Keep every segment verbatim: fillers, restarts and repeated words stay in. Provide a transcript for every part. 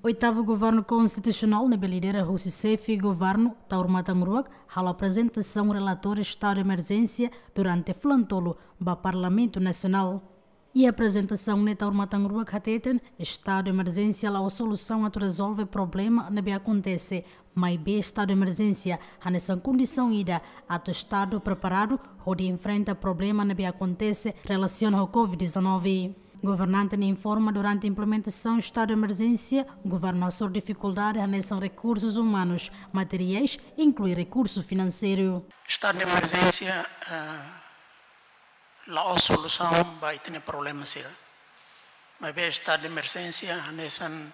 Oitavu Governu Konstitusionál ne'ebé lidera husi Xefe Governu Taur Matan Ruak halo aprezentasaun relatóriu estadu de emerjénsia durante fulan tolu ba Parlamentu Nasionál. Iha aprezentasaun ne'e Taur Matan Ruak hateten estadu de emerjénsia la'ós solusaun atu rezolve problema ne'ebé akontese, maibé estadu de emerjénsia hanesan kondisaun ida atu estadu preparadu hodi enfrenta problema ne'ebé akontese relasiona ho covid dezanove. Governante ne'e informa durante implementasaun estadu de emerjénsia, governu hasoru difikuldade hanesan rekursus umanus, materiais, inklui rekursu finanseiru. Estadu de emerjénsia, eh, la'ós solusaun ba ita-nia problema sira. Maibé estadu de emerjénsia hanesan,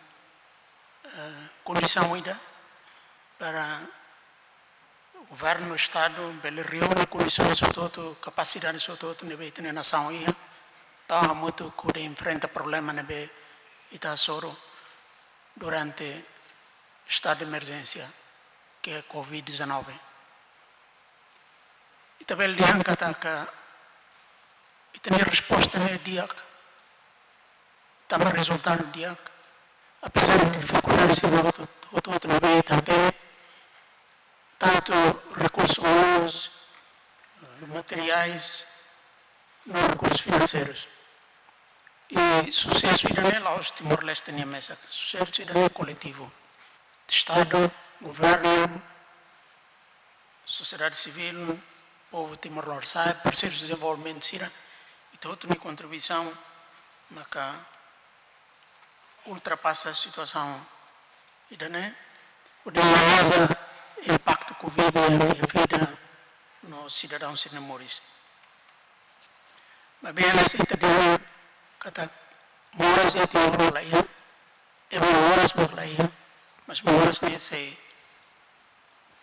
eh, kondisaun ida para governu, estadu bele reúne kondisaun hotu-hotu, kapasidade hotu-hotu ne'ebé ita-nia nasaun iha, atu hamutuk hodi enfrenta problema ne'ebé ita hasoru durante estadu de emerjénsia, ke covid dezanove. Ita bele dehan katak ita-nia resposta ne'e di'ak, tanba rezultadu di'ak, apezar de difikuldade sira hotu-hotu ne'ebé ita hatene, tantu rekursus umanus, materiais, no rekursus finanseirus. I susesu ida-ne'e la'ós Timor-Leste nia mesak, susesu ida-ne'e koletivu. Estadu, governu, sosiedade sivíl, povu Timor-Leste, parseirus dezenvolvimentu sira, ita hotu nia kontribuisaun maka ultrapasa situasaun ida-ne'e, hodi minimiza impaktu covid iha vida no sidadaun sira-nia moris. Maibé ita dehan katak moras iha Timor la iha, ema moras mós la iha, mas moras ne'e sei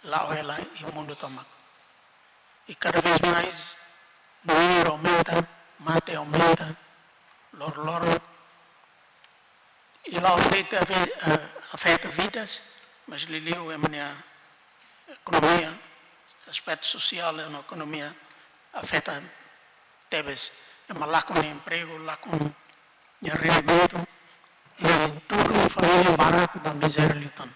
la'o hela iha mundu tomak. I cada vez mais númeru aumenta, mate aumenta, loroloron. I la'ós de'it afe-, eh, afeta vidas, mas liuliu ema nia ekonomia, aspetu sosiál no ekonomia afeta tebes. Ema lakon empregu, lakon rendimentu, i tuur família barak ba mizéria liután.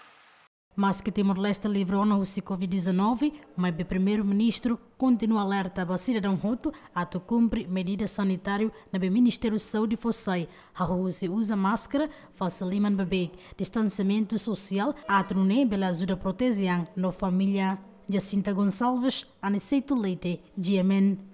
Maske Timor-Leste livre ona husi covid dezanove, maibé Primeiru-Ministru kontinua alerta ba sidadaun hotu atu kumpre medida sanitáriu ne'ebé Ministériu Saúde fó sai, hahú husi uza máskara, fase liman beibeik, distansiamentu sosiál, atu nune'e bele ajuda proteje an no família. Jacinta Gonçalves, Aniceto Leite, G M N.